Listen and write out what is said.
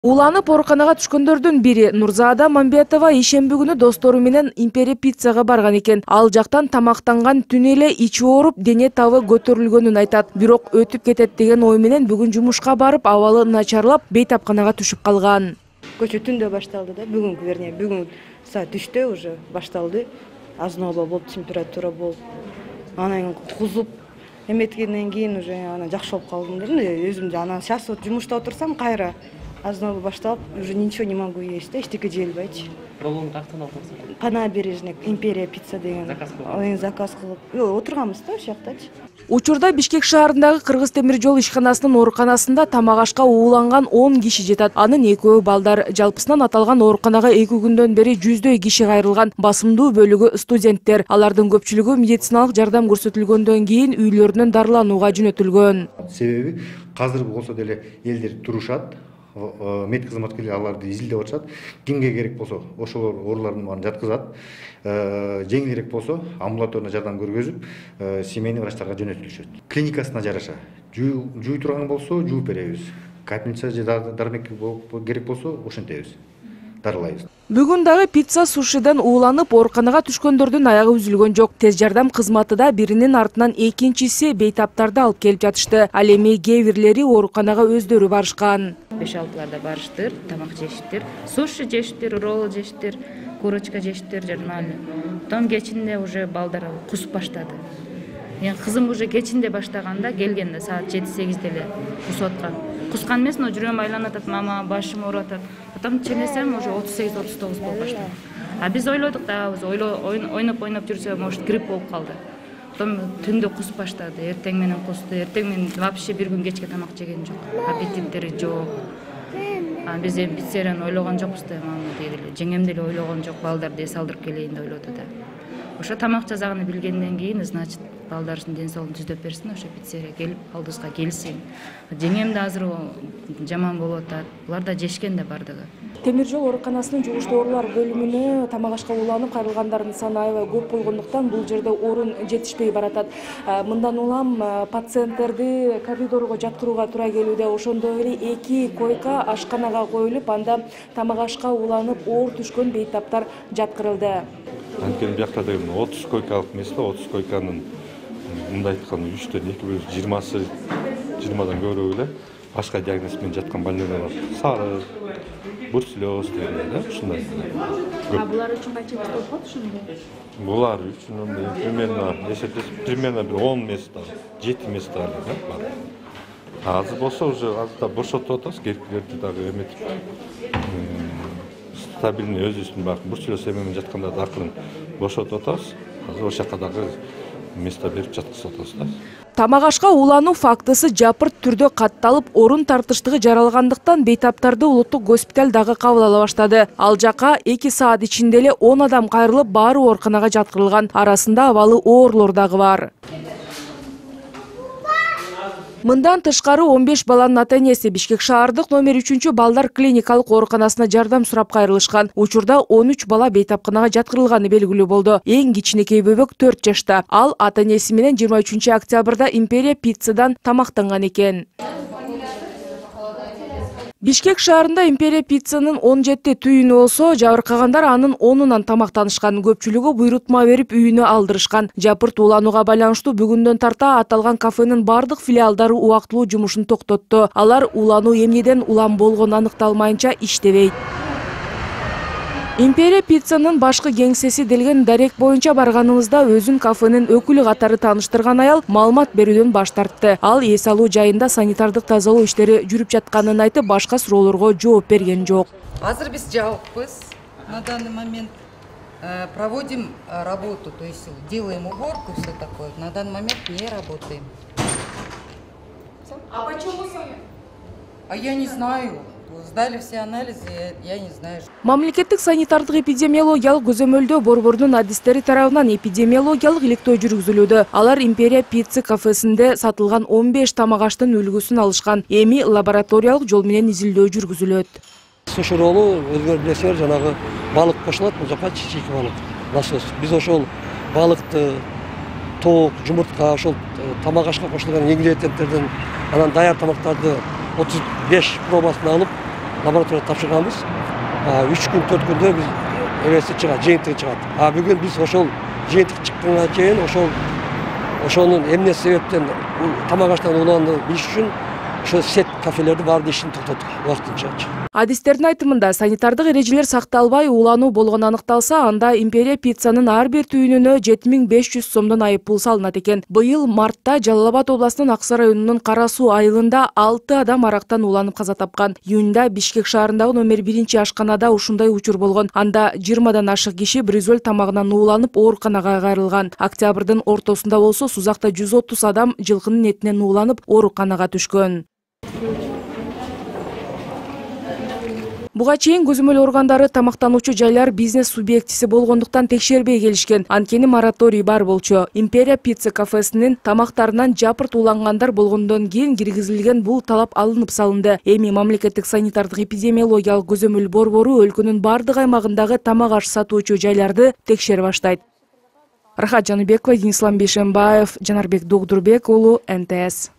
Уланып ооруканага түшкөндөрдүн бири Нурзаада Мамбетова ишемби күнү достору менен Империя пиццага барган экен. Ал жактан тамактанган түнү эле ичи ооруп, дене табы көтөрүлгөнүн айтат. Бирок өтүп кетет деген ой менен бүгүн жумушка барып, абалы начарлап, бейтапканага түшүп калган. Көчө түндө башталды да, бүгүн саат 3-тө уже башталды. Азноба болуп, температура болуп, анан кузуп, эметкенден кийин уже анан жакшы болуп калдым да. Өзүмдү анан сейчас жумушта отурсам кайра азноба башталып, уже ничего не могу есть, эчтеке жей албайчы. Роллону каяктан алдыңыз? По набережной Империя пицца деген заказ кылып отурганбыз да, ошол жактачы. Учурда Бишкек шаарындагы Кыргыз темир жол ишканасынын ооруканасында тамак ашка ууланган 10 киши жатат. Анын экөө балдар. Жалпысынан аталган ооруканага 2 күндөн бери жүздөй киши кайрылган. Басымдуу бөлүгү студенттер. Алардын көпчүлүгү медициналык жардам көрсөтүлгөндөн кийин үйлөрүнөн дарыланууга жөнөтүлгөн. Себеби азыр болсо деле элдер турушат. Мед кызматкерлери аларды изилдеп атышат. Кимге керек болсо ошолор оорулардын баарын жаткызат. Жеңилирээк болсо амбулаторный жардам көргөзүп, семейный врачтарга жөнөтүлүшөт. Клиникасына жараша жууй турган болсо жууп беребиз. Капельница же дармек керек болсо ошентебиз. Дарылайбыз. Бүгүн дагы пицца сушиден ууланып ооруканага түшкөндөрдүн аягы үзүлгөн жок. Тез жардам кызматы да биринин артынан экинчиси бейтаптарды алып келип жатышты. Ал эми кээ бирлери ооруканага өздөрү барышкан. 5-6 барыштыр, тамак жештир, суши жештир, ролл жештир, курочка жештир, жана том кечинде уже балдар кусуп баштады. Кызым уже кечинде баштаганда келгенде саат 7-8 деле кусуп аткан. Кускан эмес, но жүрөгүм айланып атат, мама, башым ооруп атат. Потом ченесем уже 38-39 болуп баштады. А биз ойлодук да, ойноп жүрсө, может, грипп болуп калды. Потом түндө кусуп баштады, эртең менен кусту. Эртең менен вообще бир күн кечке тамак жеген жок. Аппетиттери жок. Биз эми пиццерияны ойлогон жокпуз да, мама дейли. Жеңем деле ойлогон жок, балдарды эс алдырып келейин деп ойлоду да. Ошо тамак жасаганын билгенден кийин, значит, балдардын ден соолугун түздөп берсин, ошо пиццерия келип, алдыбызга келсин. Жеңем да азыр жаман болуп атат. Булар да жешкен да бардыгы. Темир жол ооруканасынын жугуштуу оорулар бөлүмүнө тамак ашка ууланып кайрылгандардын саны аябай көп болгондуктан бул жерде орун жетишпей баратат. Мындан улам пациенттерди коридорго жаткырууга туура келүүдө. Ошондой эле 2 койка ашканага коюлуп, анда тамак ашка ууланып оор түшкөн бейтаптар жаткырылды. Анткени биякта деген 30 койкалык месте, 30 койканын мындай айтканда 3төн 2 20дан көбүрөөгү эле башка диагноз менен жаткан больнойлор бар. Сары, бурслёз деген да, ушундай. Булар үчүн канча место болот ошондо? Булар үчүн примерно 10 место, 7 место бар. Азыр болсо уже азыр бошотуп атабыз, керектилерди дагы эметип. Стабильный өзүбүздүн бак бурслёз менен жаткандарды акырын бошотуп атабыз. Азыр ошол жака дагы место берип жаткызып атабыз да. Тамак ашка уулануу фактысы жапырт түрдө катталып, орун тартыштыгы жаралгандыктан бейтаптарды улуттук госпиталь дагы кабыл ала баштады. Ал жака 2 саат ичинде эле 10 адам кайрылып, баары ооруканага жаткырылган. Арасында абалы оорлор дагы бар. Мындан тышкары 15 баланын ата-энеси Бишкек шаардык номер 3 балдар клиникалык ооруканасына жардам сурап кайрылышкан. Учурда 13 бала бейтапканага жаткырылганы белгилүү болду. Эң кичинекей бөбөк 4 жашта. Ал ата-энеси менен 23 октябрда Империя пиццадан тамактанган экен. Бишкек шаарында Империя пиццанын 17 түйүнү болсо, жабыркагандар анын 10-унан тамактанышкан. Көпчүлүгү буйрутма берип үйүнө алдырышкан. Жапырт ууланууга байланыштуу бүгүндөн тарта аталган кафенин бардык филиалдары убактылуу жумушун токтотту. Алар уулануу эмнеден улам болгону аныкталмайынча иштебейт. Империя пиццанын башкы кеңсеси делген дарек боюнча барганыбызда өзүн кафенин өкүлү катары тааныштырган аял маалымат берүүдөн баш тартты. Ал эс алуу жайында санитардык тазалоо иштери жүрүп жатканын айтып, башка суроолорго жооп берген жок. Азыр биз жабыкпыз. На данный момент проводим работу, то есть делаем уборку и все такое. На данный момент не работаем. А почему? А я не знаю. Сдали все анализы, я не знаю. Мамлекеттик санитардык эпидемиологиялык көзөмөлдөө борборунун адистери тарабынан эпидемиологиялык иликтөө жүргүзүлүүдө. Алар Империя пицца кафесинде сатылган 15 тамак аштын үлгүсүн алышкан. Эми лабораториялык жол менен изилдөө жүргүзүлөт. Суши роллу өзгөрүп билесиңер, жанагы балык кошулат, бул жака чичик балык. Насос. Биз ошол балыкты, тоок, жумуртка, ошол тамак ашка кошулган ингредиенттерден анан даяр тамактарды 35 пробасын алып, лабораторияга тапшырганбыз. 3 күн 4 күндө биз эмеси чыгат, жыйынтыгы чыгат. Бүгүн биз ошол жыйынтык чыкканга чейин ошонун эмне себептен тамак аштан ууланды билиш үчүн ошо сет кафелерди баарын ишин токтоттук убактынча. Адистердин айтымында санитардык эрежелер сакталбай уулануу болгону аныкталса, анда Империя пиццанын ар бир түйүнүнө 7500 сомдон айып пул салынат экен. Быйыл мартта Жалал Абад областынын Аксы районунун Кара Суу айылында 6 адам арактан ууланып каза тапкан. Июнда Бишкек шаарындагы номер 1 ашканада ушундай учур болгон. Анда 20дан ашык киши бризоль тамагынан ууланып ооруканага кайрылган. Октябрдын ортосунда болсо Сузакта 130 адам жылкынын этинен ууланып ооруканага түшкөн. Буга чейин көзөмөл органдары тамактануучу жайлар бизнес субъектиси болгондуктан текшербей келишкен. Анткени мораторий бар болчу. Империя пицца кафесинин тамактарынан жапырт уулангандар болгондон кийин киргизилген бул талап алынып салынды. Эми мамлекеттик санитардык эпидемиологиялык көзөмөл борбору өлкөнүн бардык аймагындагы тамак аш сатуучу жайларды текшере баштайт. Рахат Жаныбекова, Денис Ламбишембаев, Жанарбек Догдурбек уулу, НТС.